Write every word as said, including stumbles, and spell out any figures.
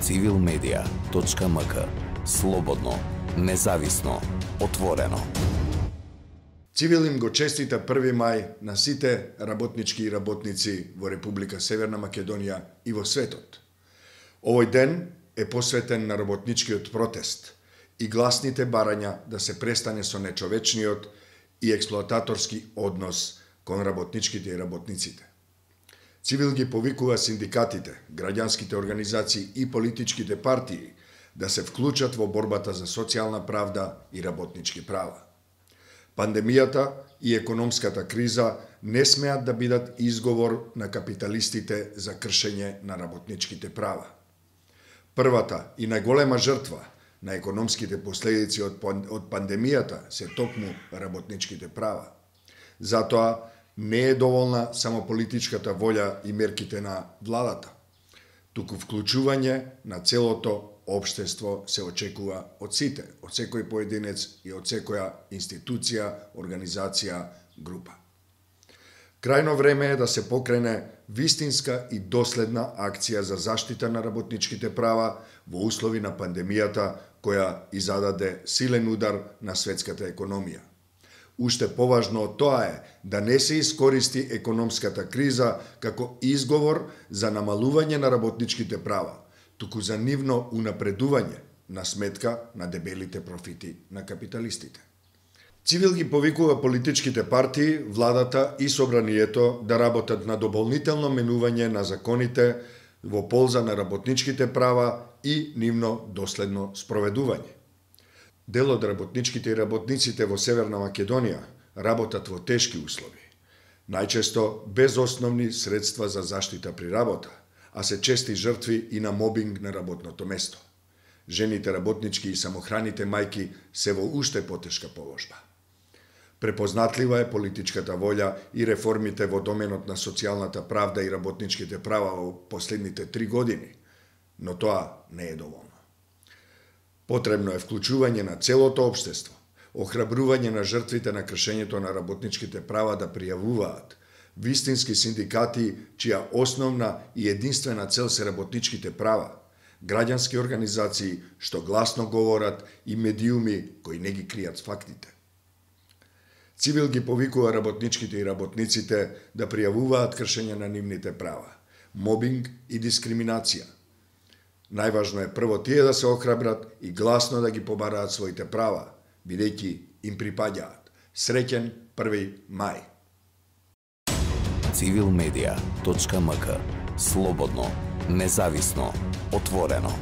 цивил медија точка ем ка. Слободно, независно, отворено. Цивил им го честита први мај на сите работнички и работници во Република Северна Македонија и во светот. Овој ден е посветен на работничкиот протест и гласните барања да се престане со нечовечниот и експлоататорски однос кон работничките и работниците. Цивил ги повикува синдикатите, граѓанските организации и политичките партии да се вклучат во борбата за социјална правда и работнички права. Пандемијата и економската криза не смеат да бидат изговор на капиталистите за кршење на работничките права. Првата и најголема жртва на економските последици од, од пандемијата се токму работничките права. Затоа не е доволна само политичката волја и мерките на владата, туку вклучување на целото општество се очекува од сите, од секој поединец и од секоја институција, организација, група. Крајно време е да се покрене вистинска и доследна акција за заштита на работничките права во услови на пандемијата која изададе силен удар на светската економија. Уште поважно од тоа е да не се искористи економската криза како изговор за намалување на работничките права, туку за нивно унапредување на сметка на дебелите профити на капиталистите. Цивил ги повикува политичките партии, владата и собранието да работат на дополнително менување на законите во полза на работничките права и нивно доследно спроведување. Дел од работничките и работниците во Северна Македонија работат во тешки услови, најчесто без основни средства за заштита при работа, а се чести жртви и на мобинг на работното место. Жените работнички и самохраните мајки се во уште потешка положба. Препознатлива е политичката волја и реформите во доменот на социјалната правда и работничките права во последните три години, но тоа не е доволно. Потребно е вклучување на целото општество, охрабрување на жртвите на кршењето на работничките права да пријавуваат, вистински синдикати чија основна и единствена цел се работничките права, граѓански организации што гласно говорат и медиуми кои не ги кријат фактите. Цивил ги повикува работничките и работниците да пријавуваат кршење на нивните права, мобинг и дискриминација. Најважно е прво тие да се охрабрат и гласно да ги побараат своите права, бидејќи им припаѓаат. Среќен први мај. цивил медија точка ем ка. Слободно, независно, отворено.